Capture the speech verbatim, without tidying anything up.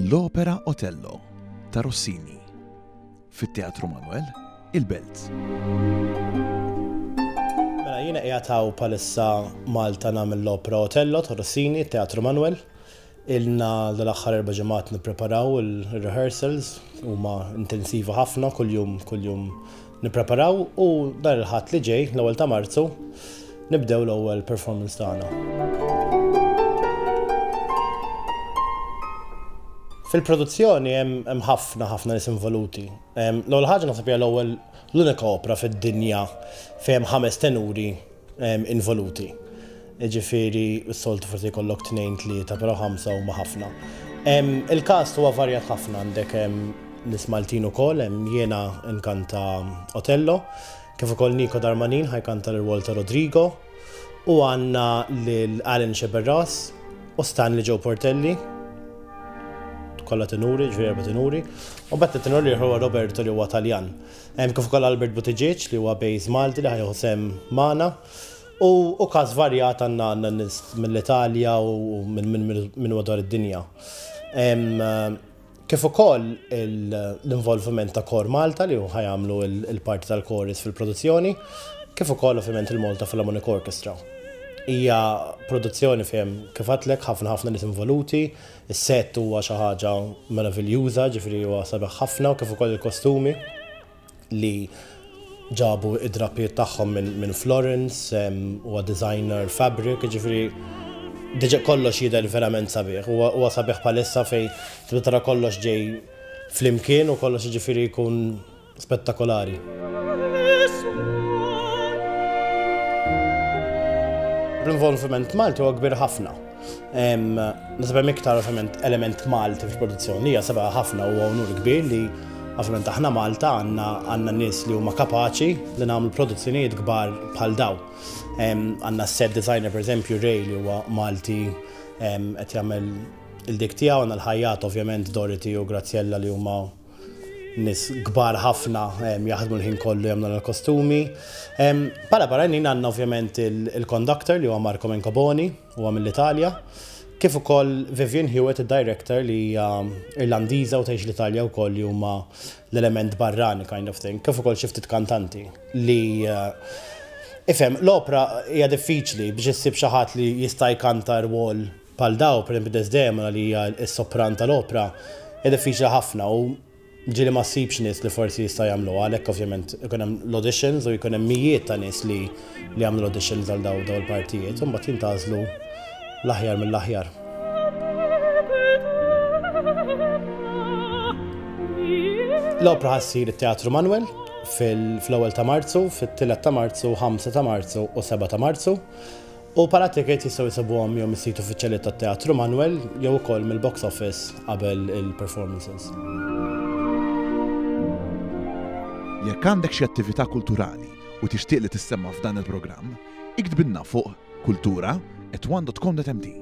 L-opera Otello ta' Rossini fit-Teatru Manuel, il-Belt. Mela jiena qiegħed hawn bħalissa Malta nagħmel l-opera Otello ta' Rossini, Teatru Manuel. Ilna dal-aħħar erba' ġimgħat nippreparaw il-rehearsals, huma intensiva ħafna, kuljum kuljum nippreparaw u dan il-Ħadd li ġej, l-ewwel ta' Marzu, nibdew l-ewwel performance tagħna. Fil-produzzjoni hemm ħafna ħafna nies involuti. L-ewwel ħaġa naħseb hija l-ewwel l-unika opra fid-dinja fejn hemm ħames tenuri involuti. Ġifieri s-soltu forsi jkollok tnejn tlieta, però ħamsa huma ħafna. Il-cast huwa varjat ħafna, għandek nies Maltin ukoll, hemm jiena nkanta Otello, kif ukoll Nico Darmanin ħa jkanta l-rwol ta' Rodrigo, u għandna lil Alan Sceberras u Stanley Joe Portelli, kollha tenuri, ġifieri erba' tenuri, u mbagħad it-tenur li huwa Roberto li huwa Taljan. Hemm kif ukoll Albert Buttigieg li huwa bass Malti li ħa jieħu sehem magħna. U, u cast varjat, għandna għandna nies mill-Italja u minn min, min madwar id-dinja. Kif ukoll l-involviment ta' Kor Malta li ħa jagħmlu il-parti tal-chorus fil-produzzjoni, kif ukoll ovvjament il-Malta Philharmonic Orchestra. Hija produzzjoni fejn, kif għedtlek, ħafna ħafna nies involuti, is-set huwa xi ħaġa meraviljuża, ġifieri huwa sabiħ ħafna, u kif ukoll il-kostumi li ġabu id-drapijiet tagħhom minn min Florence, huwa designer fabric, ġifieri diġà kollox jidher verament sabiħ. Huwa sabiħ bħalissa fejn tibda tara kollox ġej flimkien u kollox ġifieri jkun spettakolari. L-involviment Malti huwa kbir ħafna. Naħseb hemm iktar ovvjament element Malti fil-produzzjoni, hija sabiħa ħafna u onur kbir li ovvjament aħna Malta għandna għandna nies li huma kapaċi li nagħmlu produzzjonijiet kbar bħal daw. Għandna set designer, per eżempju, Ray, li huwa Malti, qed jagħmel il-dik tiegħu, għandna l-ħajjat ovvjament Dorothy u Graziella li huma nies kbar ħafna, jaħdmu l-ħin kollu jagħmlu l-kostumi. Bħala barranin għandna ovvjament il-conductor li huwa Marco Mencoboni, huwa mill-Italja, kif ukoll Vivian Hewitt, id-director, li hija Irlandiża u tgħix l-Italja wkoll, li huma l-element barrani kind of thing, kif ukoll xi ftit kantanti li ifhem l-opra hija diffiċli biex issib xi ħadd li jista' jkanta rwol bħal daw, pereżempju Desdemona li hija s-sopran tal-opra, hija diffiċli ħafna u ġieli ma ssibx nies li forsi jista' jagħmlu. Għalhekk ovvjament ikun hemm l-auditions u jkun hemm mijiet ta' nies li li jagħmlu l-auditions għal daw daw il-partijiet u mbagħad jintgħażlu l-aħjar mill-aħjar. L-opra ħa ssir it-Teatru Manuel fil-ewwel ta' Marzu, fit-tielet ta' Marzu, ħamsa ta' Marzu u seba' ta' Marzu. U bħala ticket jistgħu jsibuhom jew mis-sit uffiċjali tat-Teatru Manuel jew ukoll mill-box office qabel il-performances. Jekk għandek xi attività kulturali u tixtieq li tissemma f'dan il-programm, iktbilna fuq kultura at one dot com dot M T.